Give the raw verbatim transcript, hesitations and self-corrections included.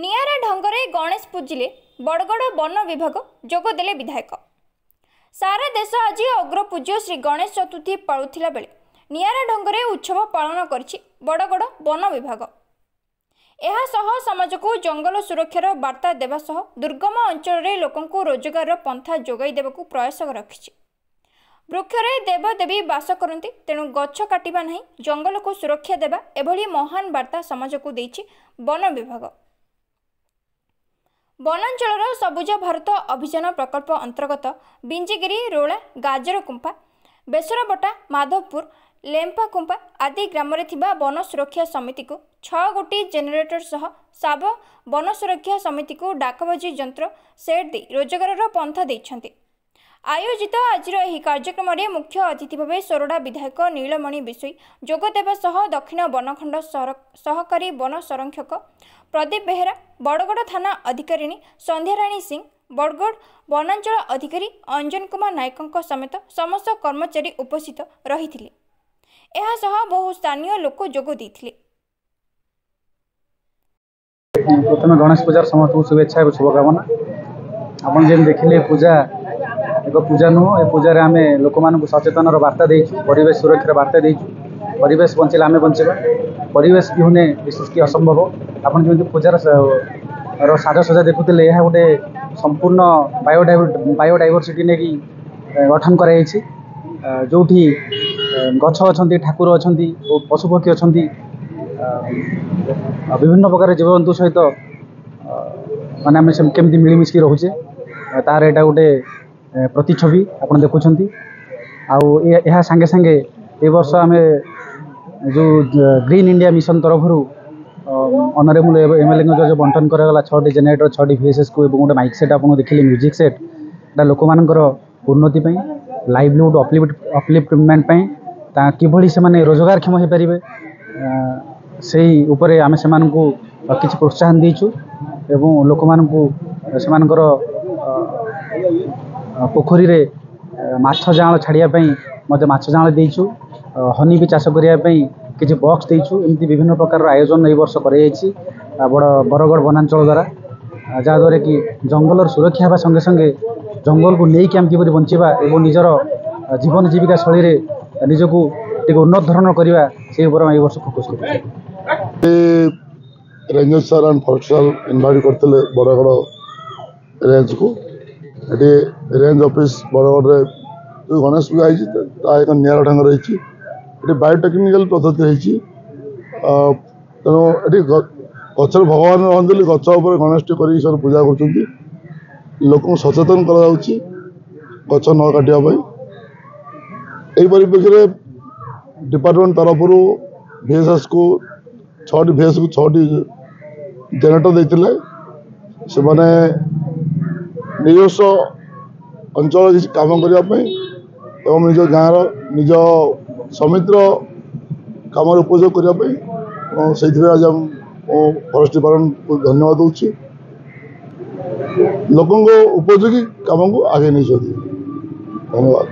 ନିଆରା ଢଙ୍ଗରେ ଗଣେଶ ପୂଜିଲେ ବଡ଼ଗଡ଼ ବନ ବିଭାଗ, ଯୋଗଦେଲେ ବିଧାୟକ। ସାରା ଦେଶ ଆଜି ଅଗ୍ରପୂଜ୍ୟ ଶ୍ରୀ ଗଣେଶ ଚତୁର୍ଥୀ ପାଳୁଥିଲା ବେଳେ ନିଆରା ଢଙ୍ଗରେ ଉତ୍ସବ ପାଳନ କରିଛି ବଡ଼ଗଡ଼ ବନ ବିଭାଗ। ଏହା ସହ ସମାଜକୁ ଜଙ୍ଗଲ ସୁରକ୍ଷାର ବାର୍ତ୍ତା ଦେବା ସହ ଦୁର୍ଗମ ଅଞ୍ଚଳରେ ଲୋକଙ୍କୁ ରୋଜଗାରର ପନ୍ଥା ଯୋଗାଇ ଦେବାକୁ ପ୍ରୟାସ ରଖିଛି। ବୃକ୍ଷରେ ଦେବଦେବୀ ବାସ କରନ୍ତି, ତେଣୁ ଗଛ କାଟିବା ନାହିଁ, ଜଙ୍ଗଲକୁ ସୁରକ୍ଷା ଦେବା, ଏଭଳି ମହାନ ବାର୍ତ୍ତା ସମାଜକୁ ଦେଇଛି ବନ ବିଭାଗ। ବନାଞ୍ଚଳର ସବୁଜ ଭାରତ ଅଭିଯାନ ପ୍ରକଳ୍ପ ଅନ୍ତର୍ଗତ ବିଞ୍ଜିଗିରି, ରୋଳା, ଗାଜରକୁମ୍ପା, ବେସରବଟା, ମାଧବପୁର, ଲେମ୍ପାକୁମ୍ପା ଆଦି ଗ୍ରାମରେ ଥିବା ବନ ସୁରକ୍ଷା ସମିତିକୁ ଛଅ ଗୋଟି ଜେନେରେଟର ସହ ସାବ ବନ ସୁରକ୍ଷା ସମିତିକୁ ଡାକବାଜି ଯନ୍ତ୍ର ସେଟ୍ ଦେଇ ରୋଜଗାରର ପନ୍ଥା ଦେଇଛନ୍ତି। ଆୟୋଜିତ ଆଜିର ଏହି କାର୍ଯ୍ୟକ୍ରମରେ ମୁଖ୍ୟ ଅତିଥି ଭାବେ ସୋରଡ଼ା ବିଧାୟକ ନୀଳମଣି ବିଷୋୟୀ ଯୋଗ ଦେବା ସହ ଦକ୍ଷିଣ ବନଖଣ୍ଡ ସହକାରୀ ବନ ସଂରକ୍ଷକ ପ୍ରଦୀପ ବେହେରା, ବଡ଼ଗଡ଼ ଥାନା ଅଧିକାରିଣୀ ସନ୍ଧ୍ୟାରାଣୀ ସିଂ, ବଡ଼ଗଡ଼ ବନାଞ୍ଚଳ ଅଧିକାରୀ ଅଞ୍ଜନ କୁମାର ନାୟକଙ୍କ ସମେତ ସମସ୍ତ କର୍ମଚାରୀ ଉପସ୍ଥିତ ରହିଥିଲେ। ଏହା ସହ ବହୁ ସ୍ଥାନୀୟ ଲୋକ ଯୋଗ ଦେଇଥିଲେ। ପ୍ରଥମେ ଗଣେଶ ପୂଜାର ସମସ୍ତଙ୍କୁ ଶୁଭେଚ୍ଛା ଏବଂ ଶୁଭକାମନା। ଆପଣ ଯେମିତି ଦେଖିଲେ, ପୂଜା ଏକ ପୂଜା ନୁହଁ, ଏ ପୂଜାରେ ଆମେ ଲୋକମାନଙ୍କୁ ସଚେତନର ବାର୍ତ୍ତା ଦେଇଛୁ, ପରିବେଶ ସୁରକ୍ଷାର ବାର୍ତ୍ତା ଦେଇଛୁ। ପରିବେଶ ବଞ୍ଚିଲେ ଆମେ ବଞ୍ଚିବା, ପରିବେଶ ବିହୁନେ ଏ ସୃଷ୍ଟି ଅସମ୍ଭବ। ଆପଣ ଯେମିତି ପୂଜାର ର ସାଜସଜ୍ଜା ଦେଖୁଥିଲେ, ଏହା ଗୋଟେ ସମ୍ପୂର୍ଣ୍ଣ ବାୟୋଡାଇଭ ବାୟୋଡାଇଭରସିଟି ନେଇକି ଗଠନ କରାଯାଇଛି, ଯେଉଁଠି ଗଛ ଅଛନ୍ତି, ଠାକୁର ଅଛନ୍ତି ଓ ପଶୁପକ୍ଷୀ ଅଛନ୍ତି। ବିଭିନ୍ନ ପ୍ରକାର ଜୀବଜନ୍ତୁ ସହିତ ମାନେ ଆମେ କେମିତି ମିଳିମିଶିକି ରହୁଛେ, ତାର ଏଇଟା ଗୋଟେ ପ୍ରତିଛବି ଆପଣ ଦେଖୁଛନ୍ତି। ଆଉ ଏହା ସାଙ୍ଗେ ସାଙ୍ଗେ ଏ ବର୍ଷ ଆମେ ଯେଉଁ ଗ୍ରୀନ୍ ଇଣ୍ଡିଆ ମିଶନ ତରଫରୁ ଅନରେବୁଲ୍ ଏମ୍ ଏଲ୍ ଏଙ୍କ ଯେଉଁ ବଣ୍ଟନ କରାଗଲା ଛଅଟି ଜେନେରେଟର, ଛଅଟି ଭିଏସ୍ଏସ୍କୁ ଏବଂ ଗୋଟେ ମାଇକ୍ ସେଟ୍, ଆପଣ ଦେଖିଲେ ମ୍ୟୁଜିକ୍ ସେଟ୍, ଏଇଟା ଲୋକମାନଙ୍କର ଉନ୍ନତି ପାଇଁ, ଲାଇଭଲିହୁଡ଼ ଅପଲିଫ୍ଟ ଅପଲିଫ୍ଟମେଣ୍ଟ ପାଇଁ, ତା କିଭଳି ସେମାନେ ରୋଜଗାରକ୍ଷମ ହୋଇପାରିବେ, ସେଇ ଉପରେ ଆମେ ସେମାନଙ୍କୁ କିଛି ପ୍ରୋତ୍ସାହନ ଦେଇଛୁ ଏବଂ ଲୋକମାନଙ୍କୁ ସେମାନଙ୍କର ପୋଖରୀରେ ମାଛ ଜାଆଁଳ ଛାଡ଼ିବା ପାଇଁ ମଧ୍ୟ ମାଛ ଜାଆଁଳ ଦେଇଛୁ, ହନି ବି ଚାଷ କରିବା ପାଇଁ କିଛି ବକ୍ସ ଦେଇଛୁ। ଏମିତି ବିଭିନ୍ନ ପ୍ରକାରର ଆୟୋଜନ ଏଇ ବର୍ଷ କରାଯାଇଛି ବଡ଼ ବରଗଡ଼ ବନାଞ୍ଚଳ ଦ୍ୱାରା, ଯାହାଦ୍ୱାରା କି ଜଙ୍ଗଲର ସୁରକ୍ଷା ହେବା ସଙ୍ଗେ ସଙ୍ଗେ ଜଙ୍ଗଲକୁ ନେଇକି ଆମେ କିପରି ବଞ୍ଚିବା ଏବଂ ନିଜର ଜୀବନ ଜୀବିକା ଶୈଳୀରେ ନିଜକୁ ଟିକେ ଉନ୍ନତ ଧରଣର କରିବା, ସେଇ ଉପରେ ଆମେ ଏଇ ବର୍ଷ ଫୋକସ୍ କରୁଛୁ। Ranger sir and forest sir invite କରିଥିଲେ ବଡ଼ଗଡ଼ ରେଞ୍ଜକୁ। ଏଠି ରେଞ୍ଜ ଅଫିସ୍ ବଡ଼ଗଡ଼ରେ ଯେଉଁ ଗଣେଶ ପୂଜା ହେଇଛି, ତାହା ଏକ ନିଆରା ଢଙ୍ଗରେ ହେଇଛି। ଏଠି ବାୟୋଟେକ୍ନିକାଲ ପଦ୍ଧତି ହେଇଛି। ତେଣୁ ଏଠି ଗଛରେ ଭଗବାନ ରହନ୍ତି ବୋଲି ଗଛ ଉପରେ ଗଣେଶଟି କରିକି ସେମାନେ ପୂଜା କରୁଛନ୍ତି। ଲୋକଙ୍କୁ ସଚେତନ କରାଯାଉଛି ଗଛ ନ କାଟିବା ପାଇଁ। ଏହି ପରିପ୍ରେକ୍ଷୀରେ ଡିପାର୍ଟମେଣ୍ଟ ତରଫରୁ ଭିଏସ୍ଏସ୍କୁ ଛଅଟି ଭିଏସ୍କୁ ଛଅଟି ଜେନେରେଟର ଦେଇଥିଲେ। ସେମାନେ ନିଜସ୍ୱ ଅଞ୍ଚଳ କିଛି କାମ କରିବା ପାଇଁ ଏବଂ ନିଜ ଗାଁର, ନିଜ ସମିତିର କାମରେ ଉପଯୋଗ କରିବା ପାଇଁ, ଏବଂ ସେଇଥିପାଇଁ ଆଜି ମୁଁ ଫରେଷ୍ଟ ଡିପାର୍ଟମେଣ୍ଟକୁ ଧନ୍ୟବାଦ ଦେଉଛି। ଲୋକଙ୍କ ଉପଯୋଗୀ କାମକୁ ଆଗେଇ ନେଇଛନ୍ତି। ଧନ୍ୟବାଦ।